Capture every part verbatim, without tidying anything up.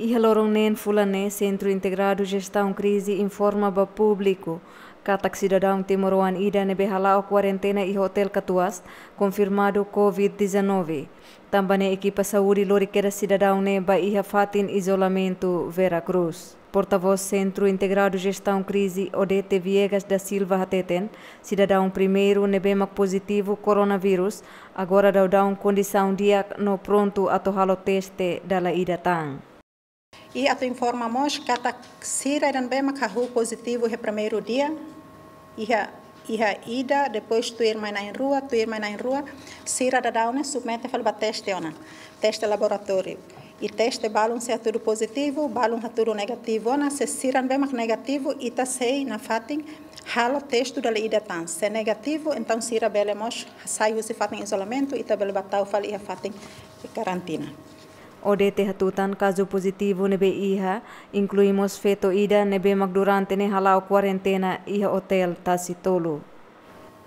Iha loron neen fulan ne'e, Sentru Integradu Jestaun Krize informa ba públiku katak sidadaun timoroan ida ne'ebé hala'o kuarentena iha Hotel Katuas konfirmadu COVID dezanove. Tanba ne'e ekipa saúde lori kedas sidadaun ne'e ba iha fatin izolamentu Vera Cruz. Portavós Sentru Integradu Jestaun Krize, Odete Viegas da Silva hateten, sidadaun primeiru ne'ebé mak pozitivu koronavírus agora daudaun kondisaun di'ak no prontu atu halo teste dala ida tan. I atu informa mós katak sira ida ne'ebé mak hahú pozitivu iha primeiru dia, iha, iha ida, depois tuir mai na'in-rua, tuir mai na'in-rua, sira daudaun ne'e submete fali ba teste ona, teste laboratóriu. I teste balun sei hatudu pozitivu, balun hatudu negativu ona, se sira ne'ebé mak negativu, ita sei nafatin halo teste dala ida tan. Se negativu, entaun sira bele mós sai husi fatin izolamentu, ita bele ba tau fali iha fatin karantina. Odete hatutan kazu pozitivu ne'ebé iha, inklui mós feto ida ne'ebé mak durante ne'e hala'o kuarentena iha Hotel Tasi Tolu.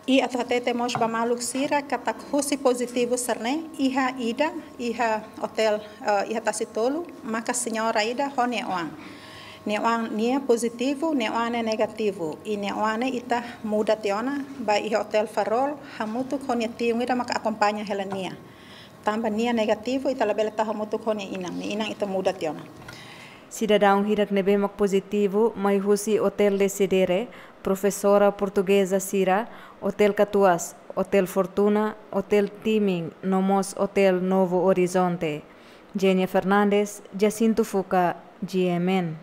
I atu hatete mós ba maluk sira katak husi pozitivu sira-ne'e iha ida, iha hotel, eh, iha Tasi Tolu, maka señora ida ho nia oan. Nia oan nia pozitivu, nia oan ne'e negativu. I nia oan ne'e ita muda tiha ona ba iha Hotel Farol, hamutuk ho nia tiun ida maka akompaña hela nia. Tanba nia negativu, ita labele tau hamutuk ho nia inan, nia inan ita muda tiha ona. Sidadaun hirak ne'ebé mak pozitivu mai husi Hotel Desidere, Profesora Portugeza sira, Hotel Katuas, Hotel Fortuna, Hotel Timin, no mós Hotel Novo Horizonte. Genia Fernandes, Jacinto Fuca, G M N.